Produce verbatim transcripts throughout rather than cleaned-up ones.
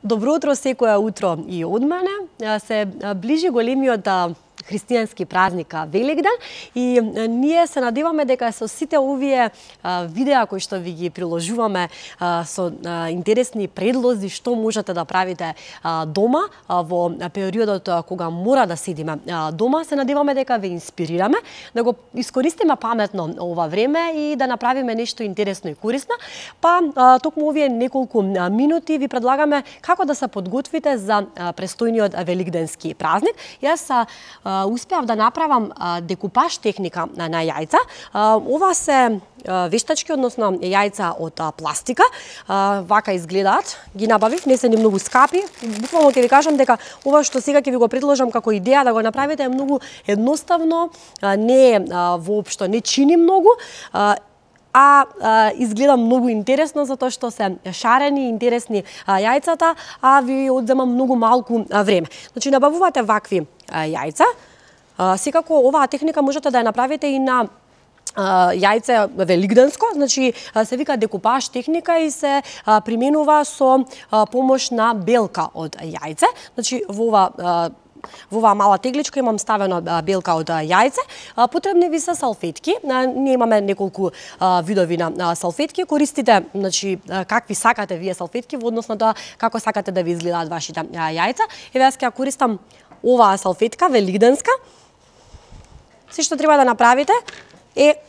Добро утро секое утро и од мене. Се ближи големиот христијански празник Великден и ние се надеваме дека со сите овие видеа кои што ви ги приложуваме со интересни предлози што можете да правите дома во периодот кога мора да седиме дома, се надеваме дека ве инспирираме, да го искористиме паметно ова време и да направиме нешто интересно и корисно. Па токму овие неколку минути ви предлагаме како да се подготвите за престојниот великденски празник. Јас успеав да направам декупаж техника на јајца. Ова се вештачки, односно јајца од пластика. Вака изгледаат. Ги набавив, не се ни многу скапи. Буквално ќе ви кажам дека ова што сега ќе ви го предложам како идеја да го направите е многу едноставно, не е воопшто не чини многу, а, а изгледа многу интересно затоа што се шарени, интересни јајцата, а ви одзема многу малку време. Значи набавувате вакви јајца. Секако оваа техника можете да ја направите и на јајце великденско, значи се вика декупаж техника и се применува со помош на белка од јајце. Значи во ова Во оваа мала тегличка имам ставено белка од јајце. Потребни ви се салфетки. Ние имаме неколку видови на салфетки. Користите, значи, какви сакате вие салфетки во однос на тоа како сакате да ви изгледаат вашите јајца. Еве јас ќе ја користам оваа салфетка великденска. Се што треба да направите е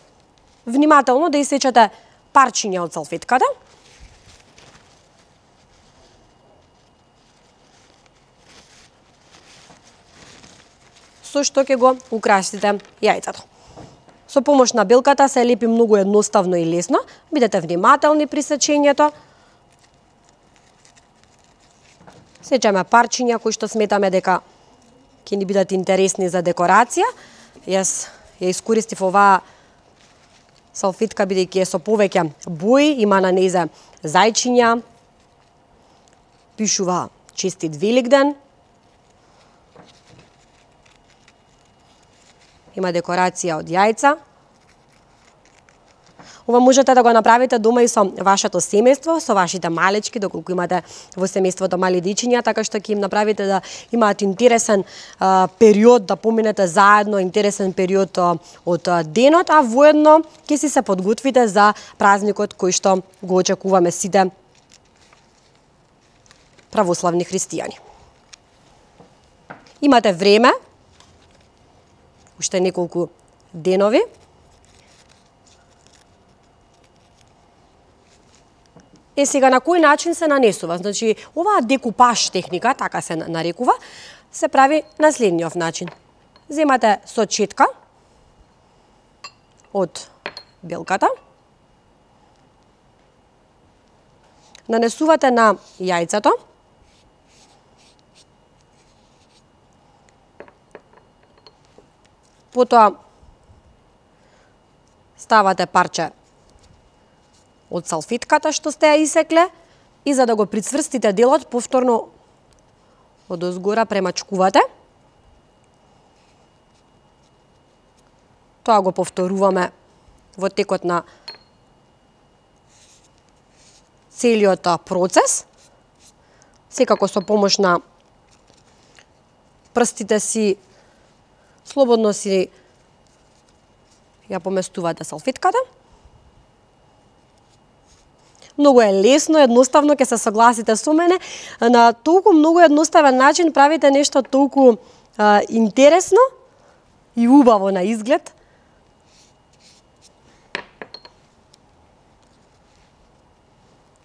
внимателно да исечете парчиња од салфетката. Со што ќе го украсите јајцето. Со помош на белката се лепи многу едноставно и лесно. Бидете внимателни при сечењето. Сечеме парчиња кои што сметаме дека ќе ни бидат интересни за декорација. Јас ја искористив оваа салфетка бидејќи е со повеќе бои, има на незе зајчиња, пишува честит Великден. Има декорација од јајца. Ова можете да го направите дома и со вашето семејство, со вашите малечки, доколку имате во семејството мали дечиња, така што ќе им направите да имаат интересен а, период, да поминете заедно, интересен период а, од а, денот, а воедно ќе си се подготвите за празникот кој што го очекуваме сите православни христијани. Имате време, уште неколку денови. Е, сега на кој начин се нанесува? Значи, оваа декупаж техника, така се нарекува, се прави на следниот начин. Земате сочетка од белката, нанесувате на јајцето, потоа ставате парче од салфетката што сте ја исекле и за да го прицврстите делот, повторно од озгора премачкувате. Тоа го повторуваме во текот на целиот процес. Секако со помош на прстите си слободно си ја поместувате салфетката. Многу е лесно, едноставно, ќе се согласите со мене. На толку многу едноставен начин правите нешто толку а, интересно и убаво на изглед.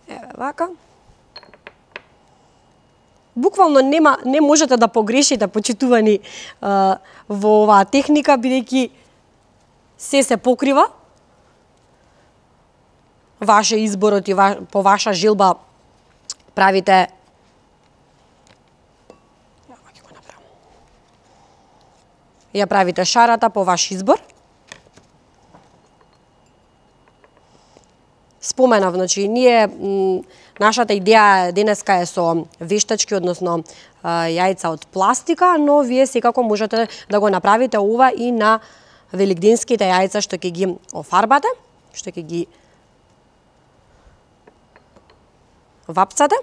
Еве вака. Буквално нема, не можете да погрешите, почитувани а, во оваа техника, бидејќи се се покрива. Ваше изборот и ва, по ваша желба правите. Ја правите шарата по ваш избор. Споменав, значи, ние, нашата идеја денеска е со вештачки, односно јајца од пластика, но вие секако можете да го направите ова и на великденските јајца што ќе ги офарбате, што ќе ги вапцате.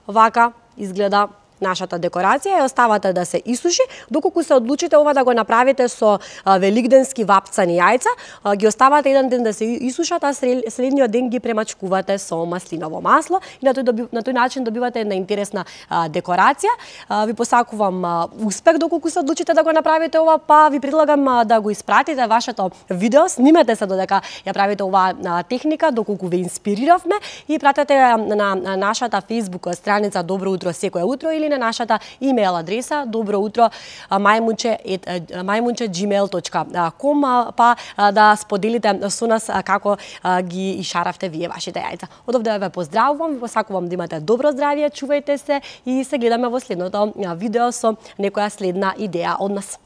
вака изгледа нашата декорација, ја оставате да се исуши, доколку се одлучите ова да го направите со велигденски вапцани јајца, ги оставате еден ден да се исушат, а следниот ден ги премачкувате со маслиново масло и на тој, доби, на тој начин добивате една интересна а, декорација. А, ви посакувам а, успех доколку се одлучите да го направите ова, па ви предлагам а, да го испратите вашето видео, снимете се додека ја правите оваа техника, доколку ве инспириравме и пратете на, на нашата Facebook страница Добро утро секое утро или на нашата имейл адреса доброутро мајмунче ет джимейл точка ком, па да споделите со нас како ги ишаравте вие вашите јајца. Од овде ве поздравувам, ви посакувам да имате добро здравје, чувајте се и се гледаме во следното видео со некоја следна идеја од нас.